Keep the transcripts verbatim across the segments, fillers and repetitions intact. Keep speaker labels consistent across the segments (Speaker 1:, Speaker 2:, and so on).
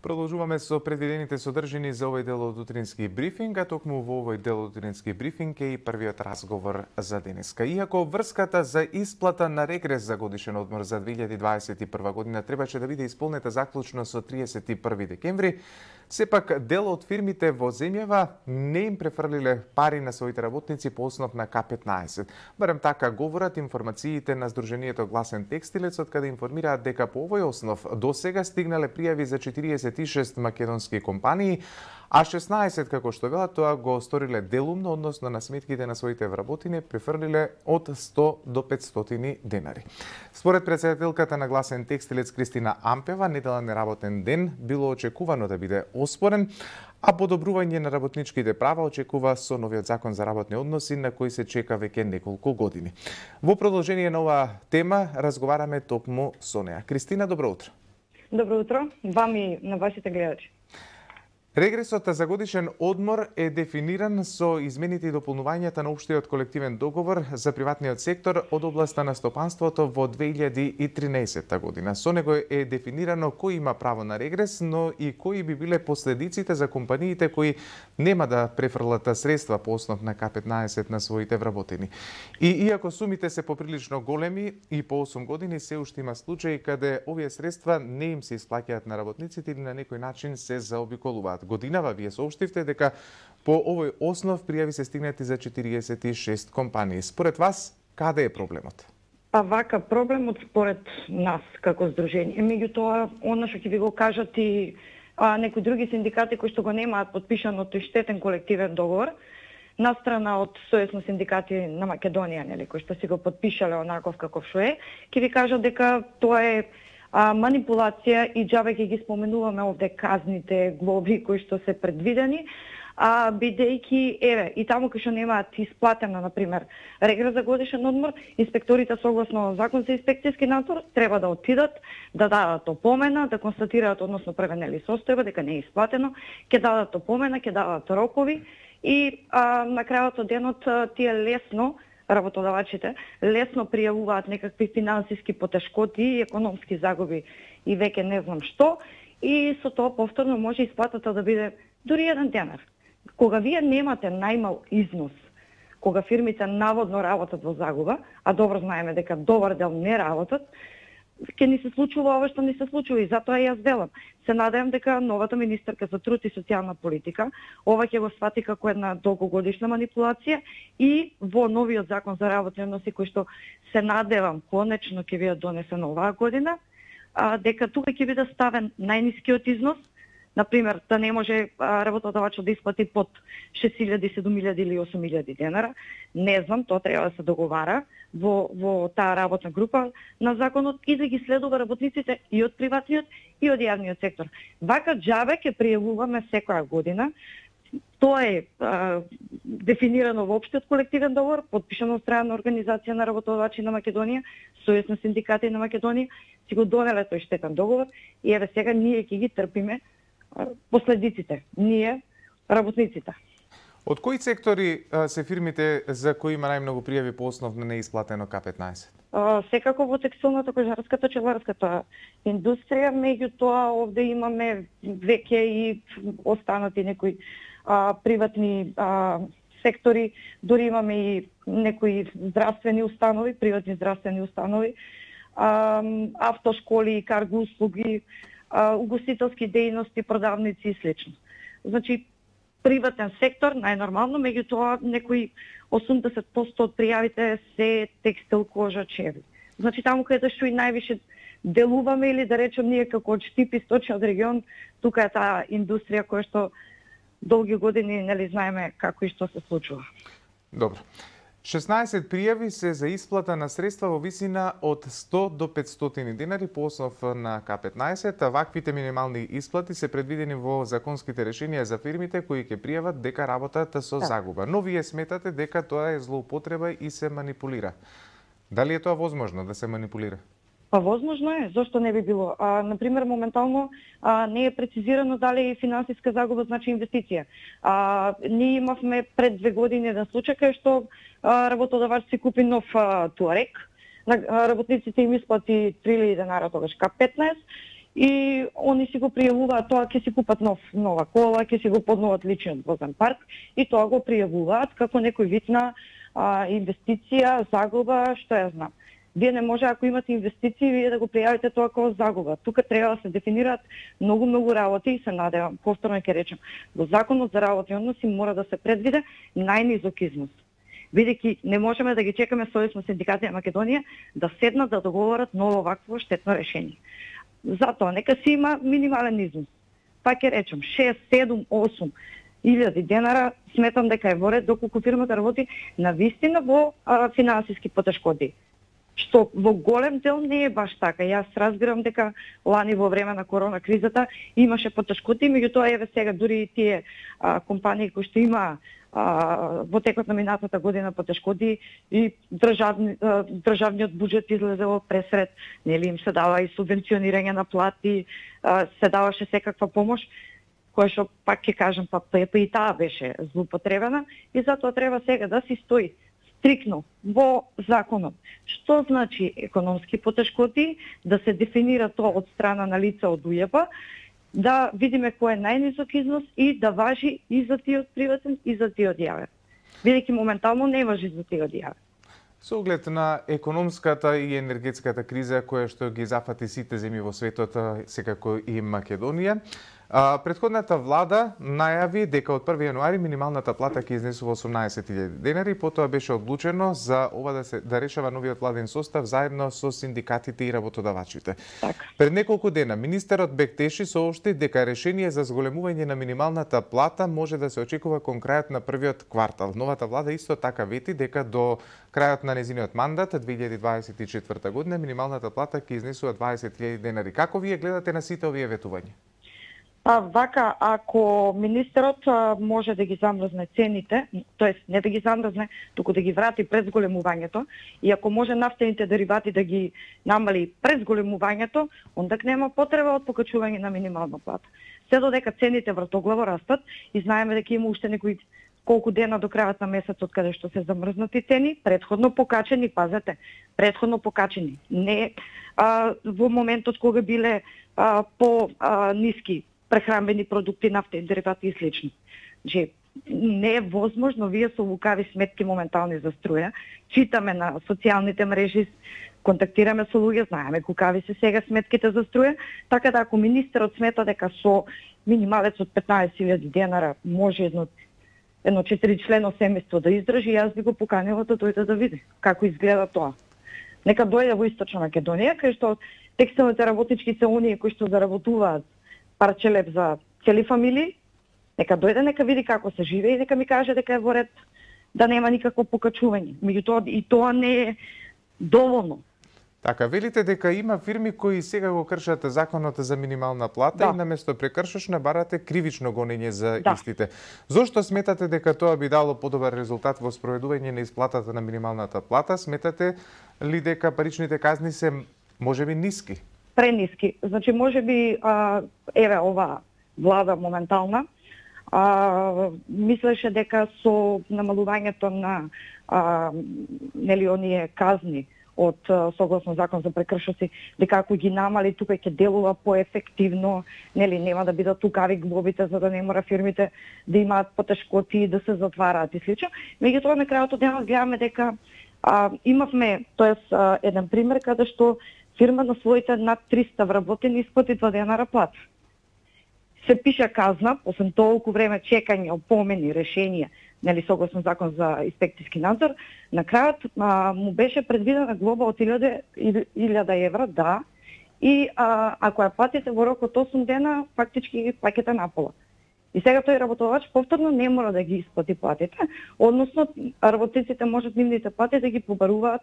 Speaker 1: Продолжуваме со предвидените содржини за овој дел од утрински брифинг, а токму во овој дел од утрински брифинг е и првиот разговор за денеска. Иако врската за исплата на регрес за годишен одмор за две илјади дваесет и прва година требаше да биде исполнета заклучно со триесет и први декември, сепак дел од фирмите во земјава не им префрлиле пари на своите работници по основ на К петнаесет. Барем така говорат информациите на Сдруженијето Гласен текстилец, од каде информираат дека по овој основ до сега стигнале пријави за четириесет и шест македонски компании, а шеснаесет, како што велат, тоа го сториле делумно, односно на сметките на своите вработени префрлиле од сто до петстотини денари. Според претседателката на Гласен текстилец Кристина Ампева, неделен работен ден било очекувано да биде оспорен, а подобрување на работничките права очекува со новиот закон за работни односи на кој се чека веќе неколку години. Во продолжение на оваа тема разговараме токму со неа. Кристина, добро утро.
Speaker 2: Добро утро, вам и на вашите гледачи.
Speaker 1: Регресот за годишен одмор е дефиниран со измените и дополнувањата на општиот колективен договор за приватниот сектор од областа на стопанството во две илјади и тринаесетта година. Со него е дефинирано кој има право на регрес, но и кои би биле последиците за компаниите кои нема да префрлат средства по основ на К петнаесет на своите вработени. И иако сумите се поприлично големи и по осум години, се уште има случаи каде овие средства не им се исплаќаат на работниците или на некој начин се заобиколуваат. Годинава вие соопштивте дека по овој основ пријави се стигнати за четириесет и шест компании. Според вас, каде е проблемот?
Speaker 2: Па вака, проблемот според нас како здружение, меѓутоа, она што ќе ви го кажат и а, некои други синдикати кои што го немаат подпишан од тој штетен колективен договор, настрана од Сојуз на синдикати на Македонија, нели, кои што си го подпишале онаков каков што е, ќе ви кажат дека тоа е А, манипулација и џабе ќе ги споменуваме овде казните, глоби кои што се предвидени, а бидејќи еве и таму кај што немаат исплатена на пример регрес за годишен одмор, инспекторите согласно закон за инспекцијски надзор треба да отидат, да дадат опомена, да констатираат односно превенели состојба дека не е исплатено, ќе дадат опомена, ќе дадат рокови и а, на крајот од денот тие лесно работодавачите лесно пријавуваат некакви финансиски потешкоти и економски загуби и веќе не знам што, и со тоа повторно може исплатата да биде дури еден денар. Кога вие немате најмал износ, кога фирмите наводно работат во загуба, а добро знаеме дека добар дел не работат, ќе ни се случува ова што ни се случува и затоа јас велам. Се надевам дека новата министерка за труд и социјална политика ова ќе го свати како една долгогодишна манипулација и во новиот закон за работни односи кој што се надевам конечно ќе биде донесен оваа година, а, дека тука ќе биде ставен најнискиот износ, например, да не може работодавачот да исплати под шест илјади, седум илјади или осум илјади денара. Не знам, тоа треба да се договара во, во таа работна група на законот и да ги следува работниците и од приватниот и од јавниот сектор. Вака џабе ќе пријавуваме секоја година. Тоа е а, дефинирано во општиот колективен договор, подпишано од страна на Организација на работодавачи на Македонија, Сојуз на синдикати на Македонија, си го донеле тој штетен договор и еве сега ние ќе ги трпиме последиците, ние, работниците.
Speaker 1: Од кои сектори а, се фирмите за кои има најмногу пријави по основ на неисплатено К петнаесет?
Speaker 2: А, секако во текстилната, кожарската, пчеларската индустрија, меѓутоа овде имаме веќе и останати некои а, приватни а, сектори, дури имаме и некои здравствени установи, приватни здравствени установи, а, автошколи, карго услуги, угостителски дејности, продавници и слично. Значи, приватен сектор, најнормално, меѓутоа некои осумдесет проценти од пријавите се текстил, кожа, чеви. Значи, таму каде што и највише делуваме или да речем ние како од Штип и Сточниот регион, тука е таа индустрија која што долги години нели знаеме како и што се случува.
Speaker 1: Добро. шеснаесет пријави се за исплата на средства во висина од сто до петстотини денари по основ на К петнаесет, а ваквите минимални исплати се предвидени во законските решенија за фирмите кои ќе пријават дека работат со да. загуба. Но вие сметате дека тоа е злоупотреба и се манипулира. Дали е тоа возможно да се манипулира?
Speaker 2: Па возможно е, зошто не би било? А, например, моментално а, не е прецизирано дали финансиска загуба значи инвестиција. А, ние имавме пред две години еден случај кај што а, работодавач си купи нов а, туарек, на работниците им исплати три илјади денара тогаш К петнаесет и они си го пријавуваат тоа, ќе си купат нов нова кола, ќе си го подноват личниот возен парк и тоа го пријавуваат како некој вид на а, инвестиција, загуба, што ја знам. Вие не може, ако имате инвестиции, вие да го пријавите тоа како загуба. Тука треба да се дефинираат многу многу работи и се надевам, повторно ќе речем, во Законот за работни односи мора да се предвиде најнизок износ. Бидејќи не можеме да ги чекаме Сојузно синдикати на Македонија да седнат да договорат ново вакво штетно решение. Затоа нека си има минимален износ. Па ќе речем шест, седум, осум илјади денара, сметам дека е во ред доколку фирмата работи на вистина во а, финансиски потешкоти. Што во голем дел не е баш така. Јас разбирам дека лани во време на корона кризата имаше потешкоти, меѓутоа еве сега дури и тие а, компании кои што има а, во текот на минатата година потешкоти и државни, а, државниот буџет излезе во пресред, нели им се дава и субвенционирање на плати, а, се даваше секаква помош, која што пак ќе кажам, па, па, па и таа беше злоупотребена и затоа треба сега да си стои стрикно во законот. Што значи економски потешкоти, да се дефинира тоа од страна на лица од УЈП, да видиме кој е најнизок износ и да важи и за тиот приватен и за тиот јавен. Бидејќи моментално не важи за тиот јавен.
Speaker 1: Со оглед на економската и енергетската криза која што ги зафати сите земји во светот, секако и Македонија, претходната влада најави дека од први јануари минималната плата ќе изнесува осумнаесет илјади денари, потоа беше одлучено за ова да се да решава новиот владен состав заедно со синдикатите и работодавачите.
Speaker 2: Так.
Speaker 1: Пред неколку дена министерот Бектеши соопшти дека решение за зголемување на минималната плата може да се очекува кон крајот на првиот квартал. Новата влада исто така вети дека до крајот на незиниот мандат две илјади дваесет и четврта година минималната плата ќе изнесува дваесет илјади денари. Како вие гледате на сите овие ветувања?
Speaker 2: Па вака, ако министерот може да ги замрзне цените, тоест не да ги замрзне, туку да ги врати пред зголемувањето, и ако може нафтените деривати да ги намали пред зголемувањето, ондак нема потреба од покачување на минимална плата. Се додека цените вратоглаво растат и знаеме дека има уште некои колку дена до крајот на месецот каде што се замрзнати цени, предходно покачени, пазете, предходно покачени. Не а, во моментот кога биле а, по а, ниски прехранбени продукти, нафтени деривати и слично. Че не е возможно, вие со лукави сметки моментални за струја, читаме на социјалните мрежи, контактираме со луѓе, знаеме кукави се сега сметките за струја, така да ако министерот смета дека со минималец од петнаесет илјади денара може едно едно четиричлено семејство да издржи, јас би го поканила да дојде да види како изгледа тоа. Нека дојде во Источна Македонија, кај што текстилните работнички се оние кои што заработуваат парче леп за цели фамилии, нека дојде, нека види како се живее и нека ми каже дека е во ред да нема никакво покачување. Меѓутоа и тоа не е доволно.
Speaker 1: Така, велите дека има фирми кои сега го кршат законот за минимална плата, да, и наместо прекршочна барате кривично гонење за, да, истите. Зошто сметате дека тоа би дало подобар резултат во спроведување на исплатата на минималната плата? Сметате ли дека паричните казни се можеби ниски?
Speaker 2: Прениски. Значи, може би, а, еве, ова влада моментална, а, мислеше дека со намалувањето на а, нели оние казни од согласно закон за прекршоци, дека ако ги намали тука ќе делува поефективно, нели нема да бидат лукави глобите за да не мора фирмите да имаат потешкоти и да се затвараат и слично. Меѓутоа на крајот од денот гледаме дека а, имавме, тоест а, еден пример каде што фирма на своите над триста вработени исплати два денара плата. Се пише казна, освен толку време чекање, опомени, решенија, нели согласно закон за инспекцијски надзор, на крајот а, му беше предвидена глоба од илјада евра, да, и а, ако ја платите во рок од осум дена, фактички плаќате напола. И сега тој работодавач повторно не мора да ги исплати платите, односно работниците можат нивните плати да ги побаруваат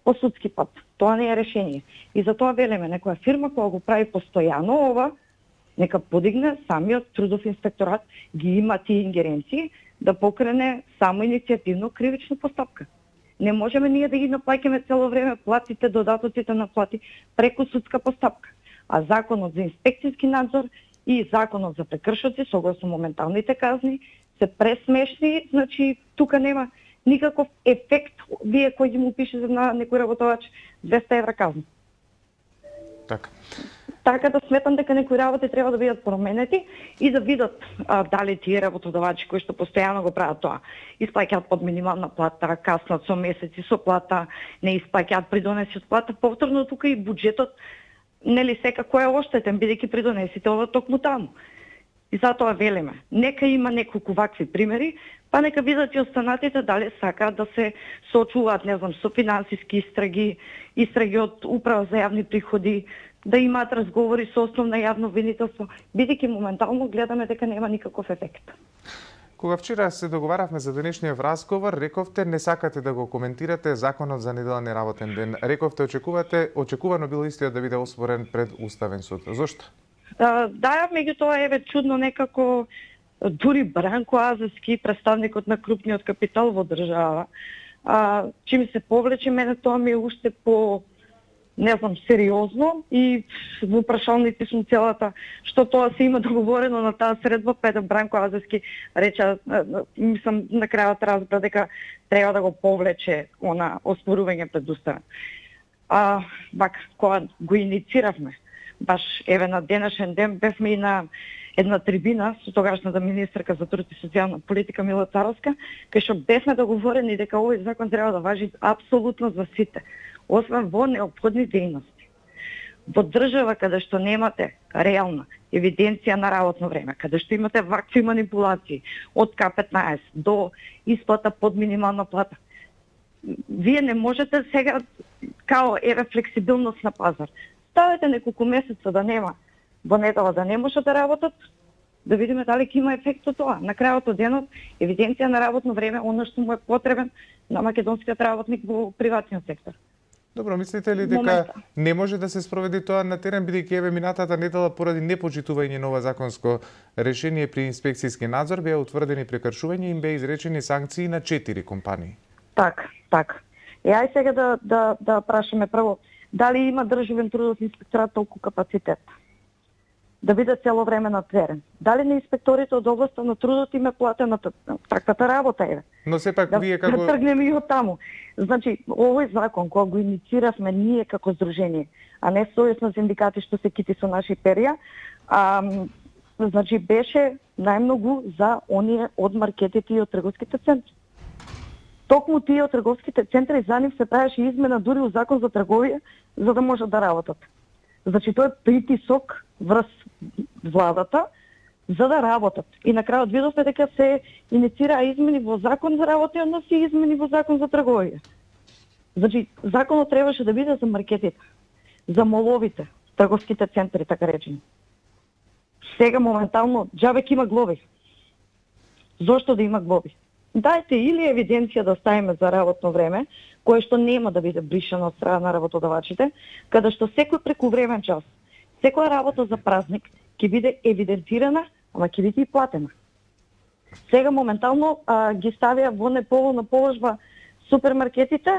Speaker 2: по судски пат. Тоа не е решение. И затоа велиме, некоја фирма која го прави постојано ова, нека подигне самиот трудов инспекторат, ги има тие ингеренции, да покрене само иницијативно кривична постапка. Не можеме ние да ги наплаќаме цело време платите, додатоците на плати преку судска постапка. А законот за инспекцијски надзор и законот за прекршоци, согласно моменталните казни, се пресмешни, значи тука нема никаков ефект, вие кој ги му пише на некој работодавач двеста евра казна.
Speaker 1: Така.
Speaker 2: Така да сметам дека некои работи треба да бидат променети и да видат а, дали тие работодавачи кои што постојано го прават тоа, исплаќаат под минимална плата, каснат со месеци со плата, не исплаќаат придонеси од плата, повторно тука и буџетот нели секако е оштетен бидејќи придонесите ова токму таму. И затоа велиме, нека има неколку вакви примери, па нека видат и останатите дали сакаат да се соочуваат, не знам, со финансиски истраги, истраги од Управа за јавни приходи, да имаат разговори со основно јавно обвинителство, бидејќи моментално гледаме дека нема никаков ефект.
Speaker 1: Кога вчера се договаравме за денешниот разговор, рековте не сакате да го коментирате законот за неделен и работен ден. Рековте очекувате, очекувано било истиот да биде оспорен пред Уставен суд. Зошто?
Speaker 2: Да, меѓутоа еве чудно некако дури Бранко Азевски, представникот на крупниот капитал во држава, а, чим се повлече, мене тоа ми е уште по, не знам, сериозно и во прашалници сум целата што тоа се има договорено на таа средба, пета Бранко Азевски рече, мислам на крајот разбра дека треба да го повлече она оспорување пред Уставен. А, бак, кога го иницииравме, баш еве на денешен ден бевме и на една трибина со тогашната министерка за труд и социјална политика Мила Царовска, кај што бевме договорени дека овој закон треба да важи апсолутно за сите, освен во неопходни дејности. Во држава каде што немате реална евиденција на работно време, каде што имате вакви манипулации од К петнаесет до исплата под минимална плата, вие не можете сега као еве флексибилност на пазар. Ставете неколку месеца да нема во недела да не може да работат, да видиме дали ќе има ефект од тоа. На крајот од денот, евиденција на работно време, она што му е потребен на македонскиот работник во приватниот сектор.
Speaker 1: Добро, мислите ли дека Момента. не може да се спроведи тоа на терен, бидејќи еве минатата недела поради непочитување на ова законско решение при инспекцијски надзор беа утврдени прекршувања и им беа изречени санкции на четири компании?
Speaker 2: Така, така. И ај сега да да да прашаме прво дали има државен трудов инспекторат толку капацитет да биде цело време на терен. Дали на инспекторите од областа на трудот им е платена таквата работа е?
Speaker 1: Но сепак
Speaker 2: да,
Speaker 1: вие како
Speaker 2: да тргнеме и од таму. Значи, овој закон кога го иницииравме ние како здружение, а не сојузно синдикати што се кити со наши перја, а, значи беше најмногу за оние од маркетите и од трговските центри. Токму тие од трговските центри за нив се правеше измена дури у закон за трговија за да можат да работат. Значи тоа е притисок врз владата за да работат. И на крајот видовме дека се инициираа измени во закон за работни односи и измени во закон за трговија. Значи законот требаше да биде за маркетите, за моловите, трговските центри така речени. Сега моментално џабек има глоби. Зошто да има глоби? Дајте или евиденција да ставиме за работно време, кое што нема да биде бришано од страна на работодавачите, каде што секој прекувремен час, секоја работа за празник ќе биде евидентирана, ама ќе биде и платена. Сега моментално а, ги ставија во неповолна положба супермаркетите,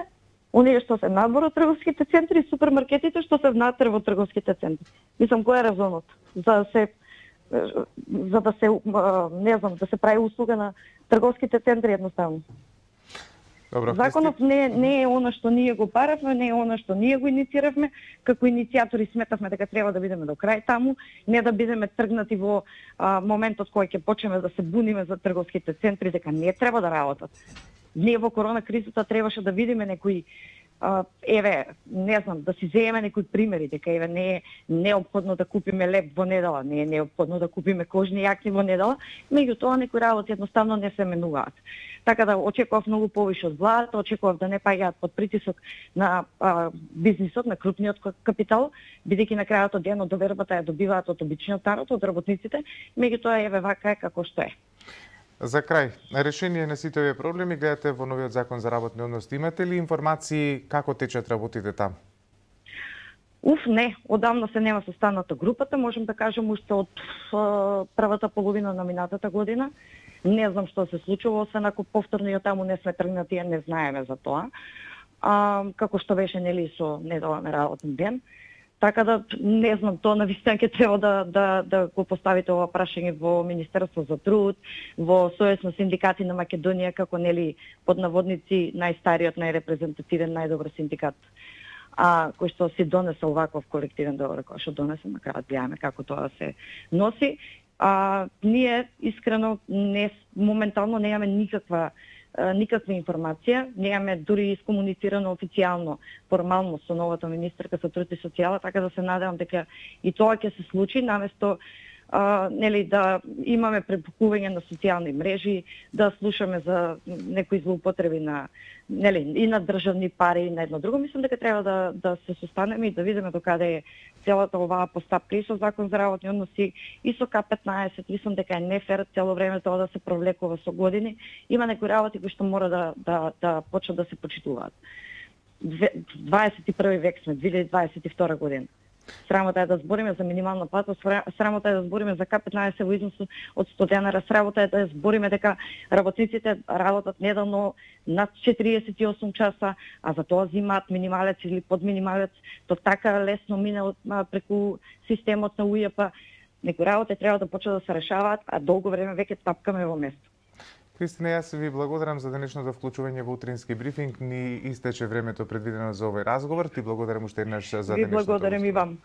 Speaker 2: оние што се надвор од трговските центри, и супермаркетите што се внатре во трговските центри. Мислам, кој е резонот? За да се за да се не знам, да се прави услуга на трговските центри едноставно.
Speaker 1: Добро,
Speaker 2: законот не, не е она што ние го баравме, не е она што ние го иницииравме, како иницијатори сметавме дека треба да бидеме до крај таму, не да бидеме тргнати во а, моментот кој ќе почнеме да се буниме за трговските центри дека не треба да работат. Ние во корона кризата требаше да видиме некои Uh, еве, не знам, да си земеме некои примери, дека еве не е неопходно да купиме леп во недела, не е неопходно да купиме кожни јакни во недела, меѓутоа некои работи едноставно не се менуваат. Така да очекував многу повише од владата, очекував да не паѓаат под притисок на а, бизнисот, на крупниот капитал, бидејќи на крајот од денот довербата ја добиваат од обичниот народ, од работниците, меѓутоа еве вака е како што е.
Speaker 1: За крај, решение на сите овие проблеми гледате во новиот закон за работни односи. Имате ли информации како течат работите таму?
Speaker 2: Уф, не, одамна се нема состаната групата, можем да кажем уште од uh, првата половина на минатата година. Не знам што се случува, освен ако повторно и од таму не сме тргнати, не знаеме за тоа. Uh, како што беше нели со неделен работен ден. Така да не знам, тоа навистина ќе треба да да да го поставите ова прашање во Министерство за труд, во Сојуз на синдикати на Македонија како нели под наводници најстариот, најрепрезентативен, најдобар синдикат. а кој што си донесе оваков колективен договор, кој што донесе, на крајот гледаме како тоа се носи. А, ние искрено не моментално немаме никаква никаква информација, немаме дури искомуницирано официјално, формално со новата министерка со труд и социјала, така да се надевам дека и тоа ќе се случи, наместо а, нели да имаме препукување на социјални мрежи, да слушаме за некои злоупотреби на нели и на државни пари и на едно друго. Мислам дека треба да да се состанеме и да видиме докаде е целата оваа постапка и со закон за работни односи и со К петнаесет. Мислам дека е нефер цело време тоа да се провлекува со години. Има некои работи кои што мора да да да почнат да се почитуваат. дваесет и први век сме, две илјади дваесет и втора година. Срамота е да збориме за минимална плата, срамота е да збориме за К петнаесет во износ од сто денара, срамота е да збориме дека работниците работат неделно над четириесет и осум часа, а за тоа земаат минималец или подминималец, то така лесно мине од преку системот на У Ј П. Некои работи треба да почнат да се решаваат, а долго време веќе тапкаме во место.
Speaker 1: Кристина, јас ви благодарам за денешното вклучување во утрински брифинг. Ни истече времето предвидено за овој разговор. Ти благодарам уште еднаш за денешното.
Speaker 2: Ви благодарам и вам.